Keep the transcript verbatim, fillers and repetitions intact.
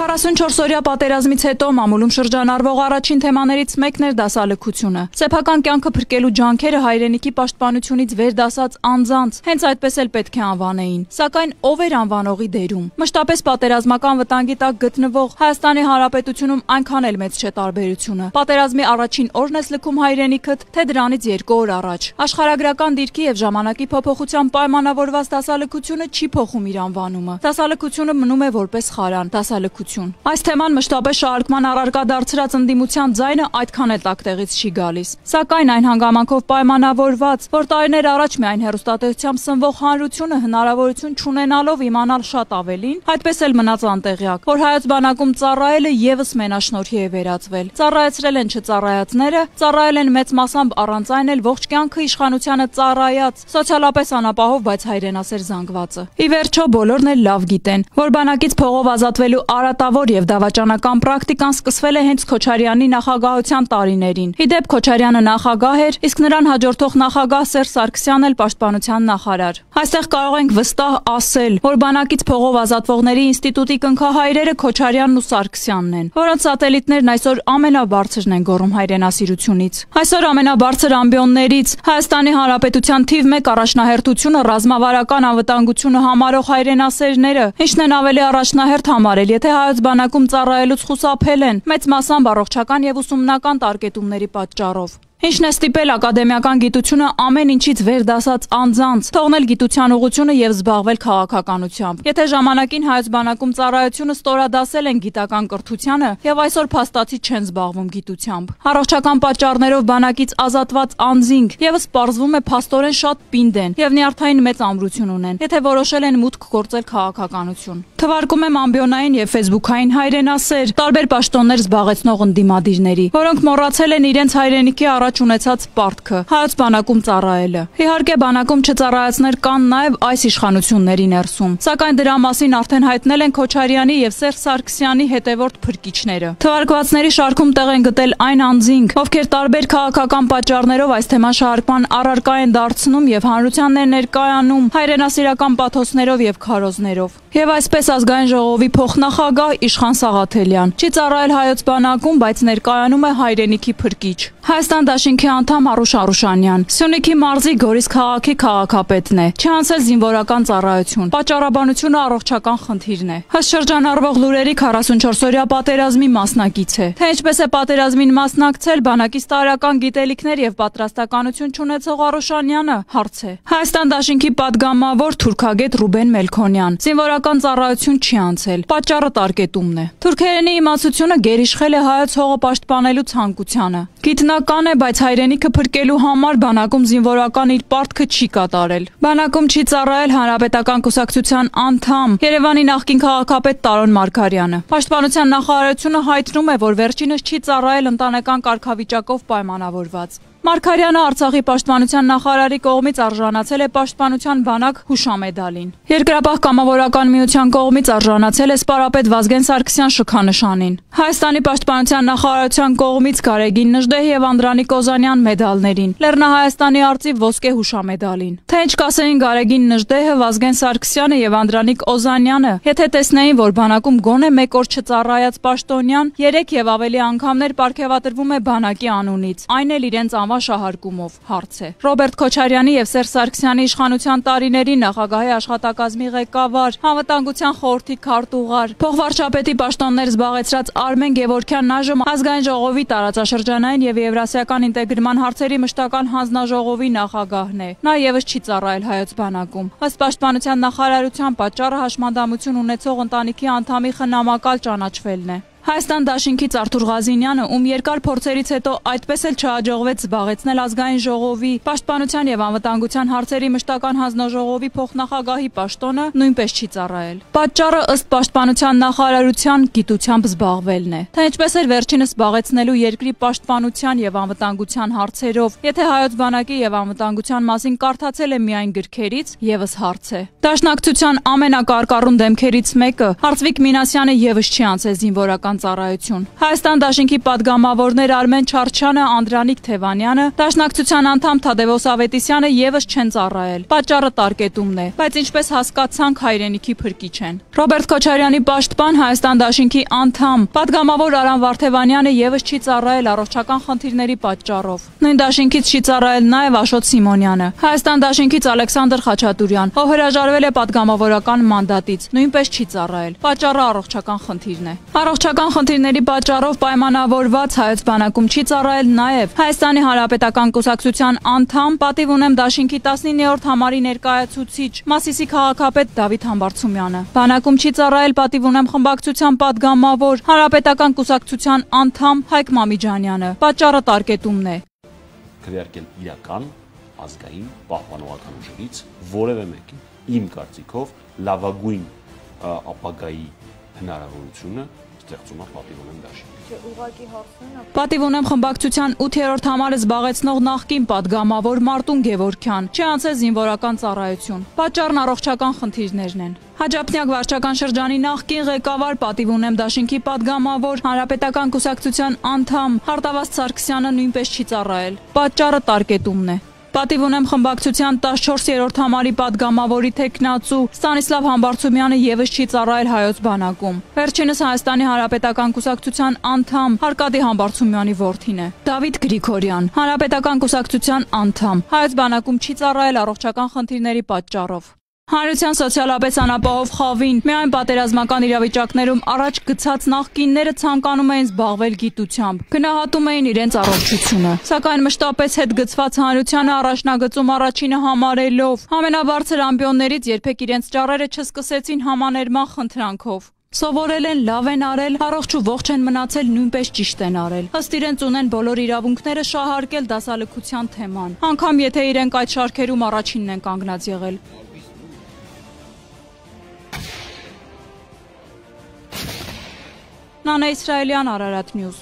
քառասունչորս-օրյա պատերազմից հետո մամուլում շրջանառվող առաջին թեմաներից մեկն էր դասալքությունը։ Սեփական կյանքը փրկելու ջանքերը հայրենիքի պաշտպանությունից վերդասած անձանց հենց այդպես էլ պետք է անվանեին։ Սակայն ով էր անվանողի դերում։ Մշտապես պատերազմական վտանգի տակ գտնվող Հայաստանի Հանրապետությունում այնքան էլ մեծ չէ տարբերությունը։ Պատերազմի առաջին օրն ես լքում հայրենիքդ, թե դրանից երկու օր առաջ։ Աշխարհագրական դիրքի եւ ժամանակի փոփոխությամբ պայմանավորված դասալքությունը չի փոխում իր անվանումը։ Դասալքությունը մնում է որպես խարան, դասալքություն։ Այս թեման մշտապես շարժման առարկա դարձրած ընդդիմության ձայնը այդքան էլ տակտեղից չի գալիս։ Սակայն այն հանգամանքով պայմանավորված, որ տարիներ առաջ միայն հեռուստատեսությամբ սնվող հանրությունը հնարավորություն չունենալով իմանալ շատ ավելին, այդպես էլ մնաց անտեղյակ, որ հայոց բանակում ծառայելը եւս մենաշնորհի է վերածվել։ Ծառայեցրել են չծառայածները, ծառայել են մեծ մասամբ առանց այն էլ ողջ կյանքը իշխանությանը ծառայած, սոցիալապես անապահով, բայց հայրենասեր զանգվածը։ Ի վերջո բոլորն էլ լավ գիտեն, որ բանակից փողով ազատվելու արատավոր եւ դավաճանական պրակտիկան սկսվել է հենց Քոչարյանի նախագահության տարիներին։ Ի դեպ Քոչարյանը նախագահ էր, իսկ նրան հաջորդող նախագահ Սերժ Սարգսյանն էլ պաշտպանության նախարար։ Այստեղ կարող ենք վստահ ասել, որ բանակից փողով ազատվողների ինստիտուտի կնքահայրերը Քոչարյանն ու Սարգսյանն են, որոնց սատելիտներն այսօր ամենաբարձրն են գոռում հայրենասիրությունից։ Այսօր ամենաբարձր ամբիոններից Հայաստանի Հանրապետության թիվ մեկ առաջնահերթությունը ռազմավարական անվտանգությունը համարող հայրենասերները, ինչն են ավելի առաջնահերթ համարել, եթե հայոց բանակում ծառայելուց խուսափել են, մեծ մասամբ առողջական եւ ուսումնական տարկետումների պատճառով։ Ինչն է ստիպել ակադեմիական գիտությունը ամեն ինչից վերդասած անձանց թողնել գիտության ուղղությունը եւ զբաղվել քաղաքականությամբ։ Եթե ժամանակին հայոց բանակում ծառայությունը ստորադասել են գիտական կրթությանը եւ այսօր փաստացի չեն զբաղվում գիտությամբ։ Առողջական պատճառներով բանակից ազատված անձինք եւս պարզվում է փաստորեն շատ պինդ են եւ նյարդային մեծ ամրություն ունեն, եթե որոշել են մուտք գործել քաղաքականություն։ Թվարկում եմ ամբիոնային եւ ֆեյսբուքային հայրենասեր, տարբեր պաշտոններ զբաղեցնող ընդդիմադիրների, որոնք մոռացել են իրենց հայրենիքի առաջ ունեցած պարտքը՝ հայոց բանակում ծառայելը։ Իհարկե բանակում չծառայածներ կան նաև այս իշխանությունների ներսում, սակայն դրա մասին արդեն հայտնել են Քոչարյանի եւ Սերժ Սարգսյանի հետևորդ փրկիչները։ Թվարկվածների շարքում տեղ են գտել այն անձինք, ովքեր տարբեր քաղաքական պատճառներով այս թեման շարժման առարկա են դարձնում եւ հանրությանն են ներկայանում հայրենասիրական պաթոսներով եւ քարոզներով։ Եվ այսպես ազգային ժողովի փոխնախագահ Իշխան Սաղաթելյան չի ծառայել հայոց բանակում, բայց ներկայանում է հայրենիքի փրկիչ։ Հայաստան դաշինքի անդամ Արուշ Արուշանյան Սյունիքի մարզի Գորիս քաղաքի քաղաքապետն է։ Չի անցել զինվորական ծառայություն։ Պատճառաբանությունը առողջական խնդիրն է։ Ըստ շրջանառվող լուրերի քառասունչորս-օրյա պատերազմի մասնակից է։ Թե ինչպես է պատերազմին մասնակցել, բանակից տարրական գիտելիքներ եւ պատրաստականություն չունեցող Արուշանյանը հարց է։ Հայաստան դաշինքի падգամավոր թուրքագետ Ռուբեն Մելքոնյան զինվորական ծառայություն չի անցել։ Պատճառը տարկետումն է։ Թուրքերենի իմացությունը գերիշխել է հայոց հողը պաշտպանելու ցանկությանը։ Գիտնական է, բայց հայրենիքը փրկելու համար բանակում զինվորական իր պարտքը չի կատարել։ Բանակում չի ծառայել հանրապետական կուսակցության անդամ Երևանի նախկին քաղաքապետ Տարոն Մարգարյանը։ Պաշտպանության նախարարությունը հայտնում է, որ վերջինս չի ծառայել ընտանեկան կարգավիճակով պայմանավորված։ Մարգարյանը Արցախի պաշտպանության նախարարի կողմից արժանացել է պաշտպանության բանակ հուշամեդալին։ Երկրապահ կամավորական միության կողմից արժանացել է սպարապետ Վազգեն Սարգսյան շքանշանին։ Հայաստանի պաշտպանության նախարարության կողմից Գարեգին Նժդեհ եւ Անդրանիկ Օզանյան մեդալներին, Լեռնահայաստանի արծիվ ոսկե հուշամեդալին։ Թե ինչ կասեին Գարեգին Նժդեհը, Վազգեն Սարգսյանը եւ Անդրանիկ Օզանյանը, եթե տեսնեին, որ բանակում գոնե մեկ օր չծառայած պաշտոնյան երեք եւ ավելի անգամներ պարգևատրվում է բանակի անունից, այն էլ իրենց շահարկումով հարց է։ Ռոբերտ Քոչարյանի եւ Սերժ Սարգսյանի իշխանության տարիների նախագահի աշխատակազմի ղեկավար, անվտանգության խորհրդի քարտուղար, փոխվարչապետի պաշտոններ զբաղեցրած Արմեն Գևորգյանն այժմ ազգային ժողովի տարածաշրջանային եւ եվրասիական ինտեգրման հարցերի մշտական հանձնաժողովի նախագահն է։ Նա եւս չի ծառայել հայոց բանակում։ Ըստ պաշտպանության նախարարության պատճառը հաշմանդամություն ունեցող ընտանիքի անդամի խնամակալ ճանաչվելն է։ Հայաստան դաշինքից Արթուր Ղազինյանը, ում երկար փորձերից հետո այդպես էլ չհաջողվեց զբաղեցնել ազգային ժողովի պաշտպանության եւ անվտանգության հարցերի մշտական հանձնաժողովի փոխնախագահի պաշտոնը, նույնպես չի ծառայել։ Պատճառը ըստ պաշտպանության նախարարության գիտությամբ զբաղվելն է։ Թե ինչպես էր վերջինս զբաղեցնելու երկրի պաշտպանության եւ անվտանգության հարցերով, եթե հայոց բանակի եւ անվտանգության մասին կարդացել է միայն գրքերից, եւս հարց է։ Դաշնակցության ամենակարկառուն դեմքերից մեկը Արծվիկ Մինասյանը եւս չի անցել զինվորական զինվորական ծառայություն։ Հայաստան դաշինքի падգամավորներ Արմեն Չարչյանը, Անդրանիկ Թևանյանը, Դաշնակցության անդամ Թադևոս Ավետիսյանը եւս չեն ծառայել։ Պատճառը տարկետումն է, բայց ինչպես հասկացանք, հայրենիքի փրկիչ են։ Ռոբերտ Քոչարյանի պաշտպան, Հայաստան դաշինքի անդամ, падգամավոր Արամ Վարդևանյանը եւս չի ծառայել առողջական խնդիրների պատճառով։ Նույն դաշինքից չի ծառայել նաեւ Աշոտ Սիմոնյանը։ Հայաստան դաշինքից Ալեքսանդր Խաչատուրյան, ով հրաժարվել է падգամավորական մանդատից, նույնպես չի ծառայել։ Պատճառը առողջական խնդիրն է։ Առողջական խնդիրների պատճառով պայմանավորված Հայոց բանակում չի ծառայել նաեւ Հայաստանի Հանրապետական կուսակցության անդամ, պատիվ ունեմ դաշինքի տասնիններորդ համարի ներկայացուցիչ, Մասիսի քաղաքապետ Դավիթ Համբարձումյանը։ Բանակում չի ծառայել պատիվ ունեմ խմբակցության падգամավոր, Հանրապետական կուսակցության անդամ Հայկ Մամիջանյանը։ Պատճառը տարկետումն է։ Քվեարկել իրական ազգային պահպանողական ուժերից որևէ մեկին իմ կարծիքով լավագույն ապագայի հնարավորությունը ստեղծում է պատիվ ունեմ դաշինք։ Պատիվ ունեմ խմբակցության ութերորդ համարը զբաղեցնող նախկին падգամավոր Մարտուն Գևորգյան չի անցել զինվորական ծառայություն։ Պատճառն առողջական խնդիրներն են։ Հաջափնյակ վարչական շրջանի նախկին ղեկավար, պատիվ ունեմ դաշինքի падգամավոր, Հանրապետական կուսակցության անդամ Հարտավազդ Սարգսյանը նույնպես չի ծառայել։ Պատճառը տարկետումն է։ Պատիվ ունեմ խմբակցության տասնչորսերորդ համարի падգամավորի թեկնածու Ստանիսլավ Համբարձումյանը եւս չի ծառայել Հայոց բանակում։ Վերջինս Հայաստանի Հանրապետական կուսակցության անդամ Արկադի Համբարձումյանի որդին է։ Դավիթ Գրիգորյան, Հանրապետական կուսակցության անդամ, Հայոց բանակում չի ծառայել առողջական խնդիրների պատճառով։ Հանրության սոցիալապես անապահով խավին միայն պատերազմական իրավիճակներում առաջ գցած նախկինները ցանկանում էին զբաղվել գիտությամբ, գնահատում էին իրենց առողջությունը, սակայն մշտապես հետ գցված հանրությանը առաջնագծում առաջինը համարելով, ամենաբարձր ամբիոններից երբեք իրենց ճառերը չսկսեցին համաներման խնդրանքով։ Սովորել են, լավ են արել, առողջ ու ողջ են մնացել, նույնպես ճիշտ են արել։ Ըստ իրենց ունեն բոլոր իրավունքները շահարկել դասալքության թեման, անգամ եթե իրենք այդ շարքերում առաջինն են կանգնած եղել։ Նանե Իսրայելյան, Արարատ Նյուզ։